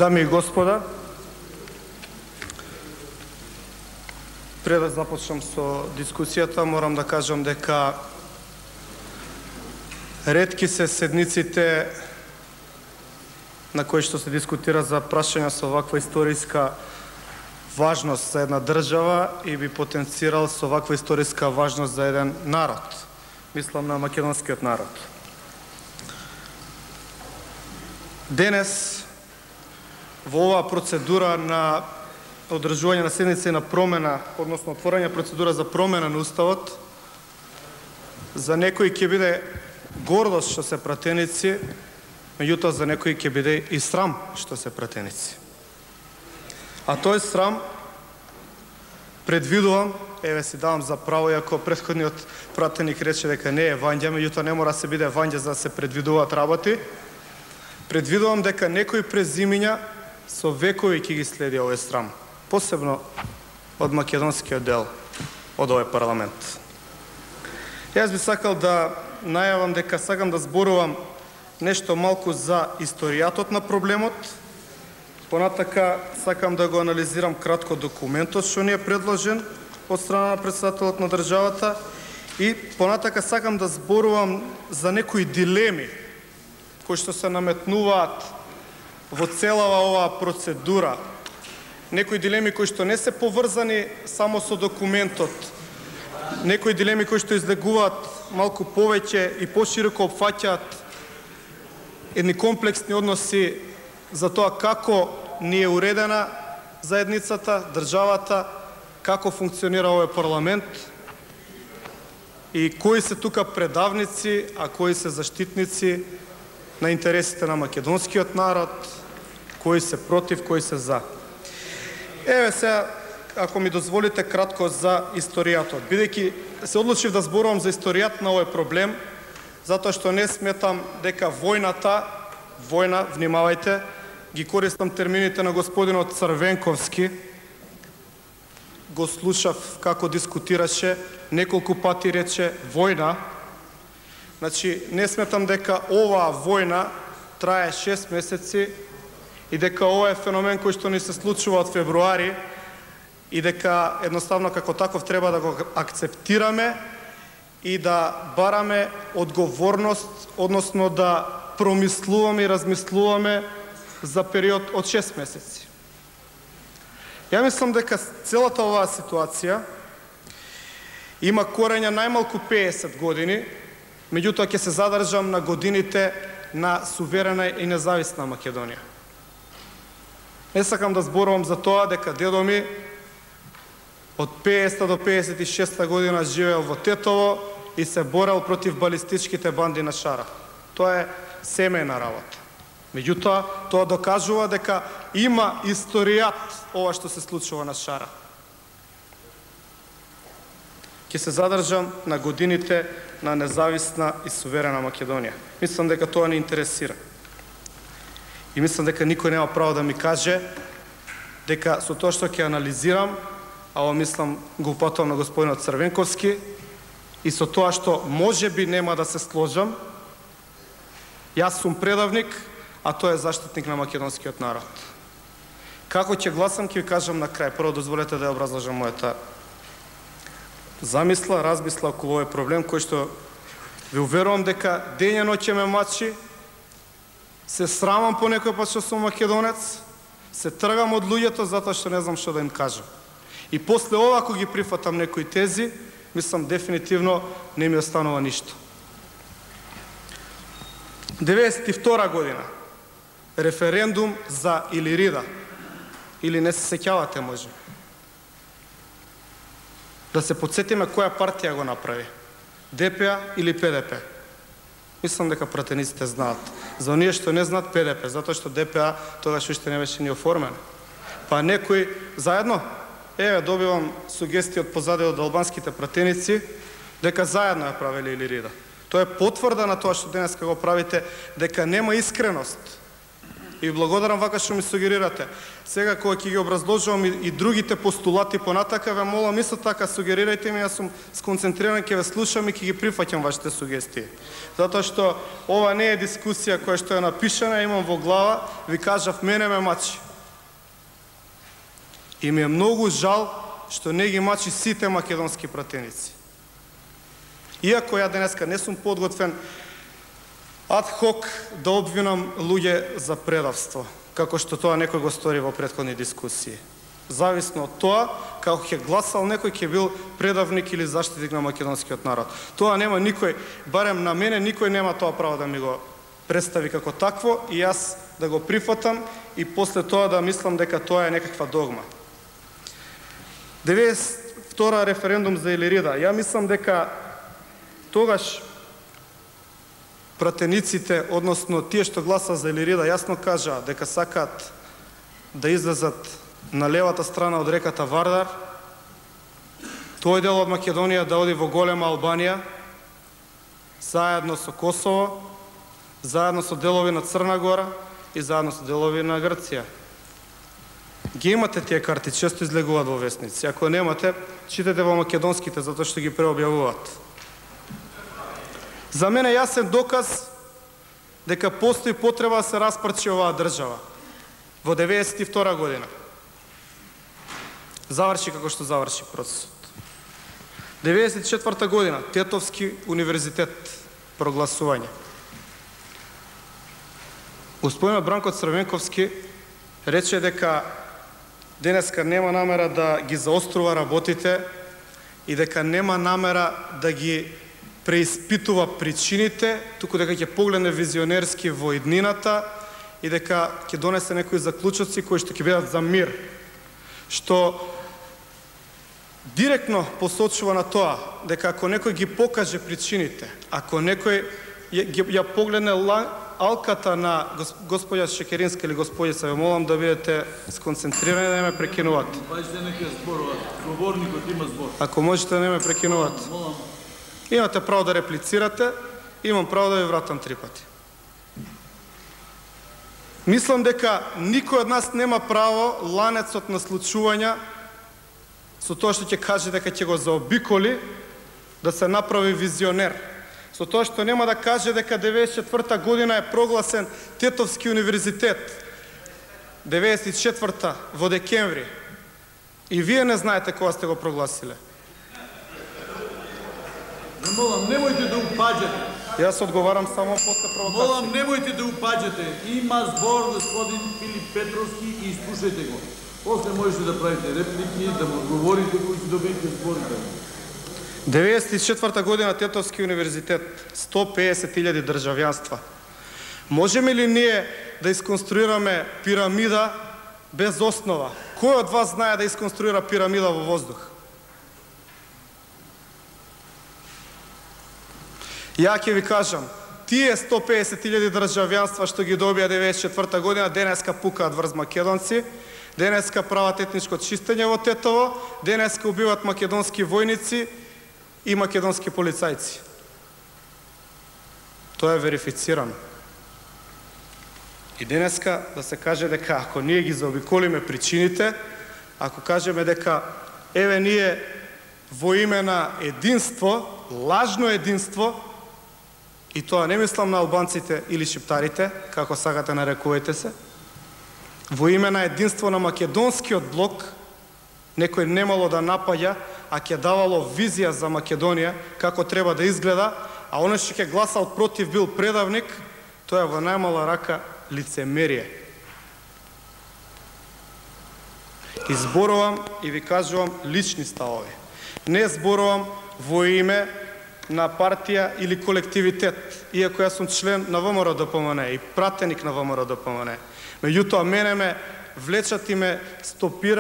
Дами и господа, пред да започнам со дискусијата, морам да кажам дека ретки се седниците на кои што се дискутира за прашања со ваква историска важност за една држава и би потенцирал со ваква историска важност за еден народ. Мислам на македонскиот народ. Денес, во оваа процедура на одржување на седница и на промена, односно отворање процедура за промена на Уставот, за некои ќе биде гордост што се пратеници, меѓутоа за некои ќе биде и срам што се пратеници. А тој срам предвидувам, еве си давам за право, иако претходниот пратеник рече дека не е вања, меѓутоа не мора да се биде вања за да се предвидуваат работи, предвидувам дека некои презимиња со векови ќе ги следи овој срам, посебно од македонскиот дел од овој парламент. Јас би сакал да најавам дека сакам да зборувам нешто малку за историјатот на проблемот, понатака сакам да го анализирам кратко документот што ни е предложен од страна на претседателот на државата и понатака сакам да зборувам за некои дилеми кои што се наметнуваат во целава оваа процедура. Некои дилеми кои што не се поврзани само со документот, некои дилеми кои што излегуваат малку повеќе и пошироко опфаќаат едни комплексни односи за тоа како ни е уредена заедницата, државата, како функционира овој парламент и кои се тука предавници, а кои се заштитници на интересите на македонскиот народ, кои се против, кои се за. Еве сега, ако ми дозволите кратко за историјатот. Бидејќи се одлучив да зборувам за историјат на овој проблем, затоа што не сметам дека војна, внимавајте, ги користам термините на господинот Црвенковски, го слушав како дискутираше, неколку пати рече војна. Значи, не сметам дека оваа војна трае 6 месеци и дека ова е феномен кој што ни се случува од февруари и дека едноставно како таков треба да го акцептираме и да бараме одговорност, односно да промислуваме и размислуваме за период од 6 месеци. Ја мислам дека целата оваа ситуација има корења најмалку 50 години, меѓутоа ќе се задржам на годините на суверена и независна Македонија. Не сакам да зборувам за тоа дека дедо ми од 50 до 56 година живеел во Тетово и се борел против балистичките банди на Шара. Тоа е семејна работа. Меѓутоа, тоа докажува дека има историјат ова што се случува на Шара. Ќе се задржам на годините на независна и суверена Македонија. Мислам дека тоа не интересира. И мислам дека никој нема право да ми каже дека со тоа што ќе анализирам, а ова мислам го упатувам на господинот Црвенковски, и со тоа што можеби нема да се сложам, јас сум предавник, а тој е заштитник на македонскиот народ. Како ќе гласам, ќе ви кажам на крај. Прво дозволете да ја образложам мојата замисла, размисла околу овој проблем, кој што ви уверувам дека дење ноќе ме мачи, се срамам по некој пат што сум македонец, се тргам од луѓето затоа што не знам што да им кажам. И после ова, ако ги прифатам некои тези, мислам дефинитивно не ми останува ништо. 92 година, референдум за Илирида. Или не се сеќавате, може. Да се подсетиме која партија го направи. ДПА или ПДП. Мислам дека пратениците знаат. За оние што не знаат, ПДП, затоа што ДПА тогаш уште не беше ни оформен. Па некои заедно, еве добивам сугестии од позади од албанските пратеници, дека заедно ја правеле Илирида. Тоа е потврда на тоа што денеска го правите, дека нема искреност И благодарам вака што ми сугерирате. Сега кога ќе ги образложувам и другите постулати понатака, ве молам исто така сугерирајте ми, јас сум сконцентриран, ќе ве слушам и ќе ги прифаќам вашите сугестии. Затоа што ова не е дискусија која што е напишана, имам во глава, ви кажав, мене ме мачи. И ми е многу жал што не ги мачи сите македонски пратеници. Иако ја денеска не сум подготвен адхок да обвинам луѓе за предавство, како што тоа некој го стори во претходни дискусии. Зависно од тоа, како ќе гласал некој, ќе бил предавник или заштитник на македонскиот народ. Тоа нема никој, барем на мене, никој нема тоа право да ми го представи како такво и јас да го прифатам и после тоа да мислам дека тоа е некаква догма. 92 референдум за Илирида. Ја мислам дека тогаш пратениците, односно тие што гласа за Илирида, јасно кажаа дека сакаат да излезат на левата страна од реката Вардар, тој дел од Македонија да оди во голема Албанија, заедно со Косово, заедно со делови на Црна Гора и заедно со делови на Грција. Ги имате тие карти, често излегуваат во весници. Ако немате, читате во македонските, затоа што ги преобјавуваат. За мене јасен доказ дека постои потреба да се распарчи оваа држава. Во 92 година. Заврши како што заврши процесот. 94 година, Тетовски универзитет, прогласување. Господинот Бранко Црвенковски рече дека денеска нема намера да ги заострува работите и дека нема намера да ги преиспитува причините, туку дека ќе погледне визионерски во иднината и дека ќе донесе некои заклучоци кои што ќе бидат за мир. Што директно посочува на тоа дека ако некој ги покаже причините, ако некој ја погледне алката на господја Шекеринска или господица, ве молам да бидете сконцентрирани да не ме прекинувате. Ако можете да не ме прекинувате. Имате право да реплицирате, имам право да ви вратам 3 пати. Мислам дека никој од нас нема право ланецот на случувања со тоа што ќе каже дека ќе го заобиколи, да се направи визионер. Со тоа што нема да каже дека 94 година е прогласен Тетовски универзитет. 94 во декември. И вие не знаете кога сте го прогласиле. Молам, немојте да упаѓате. Јас одговарам само после провокација. Молам, немојте да упаѓате. Има збор господин Филип Петровски и слушајте го. После можете да правите реплики, да му одговорите кои ќе добиете зборите. 94 година Тетовски универзитет, 150.000 државјанства. Можеме ли ние да исконструираме пирамида без основа? Кој од вас знае да исконструира пирамида во воздух? Ја ќе ви кажам, тие 150.000 државјанства што ги добија 94 година, денеска пукаат врз македонци, денеска прават етничко чистење во Тетово, денеска убиваат македонски војници и македонски полицајци. Тоа е верифицирано. И денеска да се каже дека ако ние ги заобиколиме причините, ако кажеме дека еве ние во име на единство, лажно единство, и тоа не мислам на албанците или шиптарите, како сакате нарекувајте се, во име на единство на македонскиот блок, некој немало да напаѓа, а ќе давало визија за Македонија, како треба да изгледа, а оној што ќе гласал против бил предавник, тоа е во најмала рака лицемерие. Изборувам и ви кажувам лични ставови. Не зборувам во име на партија или колективитет, иако јас сум член на ВМРО-ДПМН и пратеник на ВМРО-ДПМН. Меѓутоа, мене ме влечат и ме стопира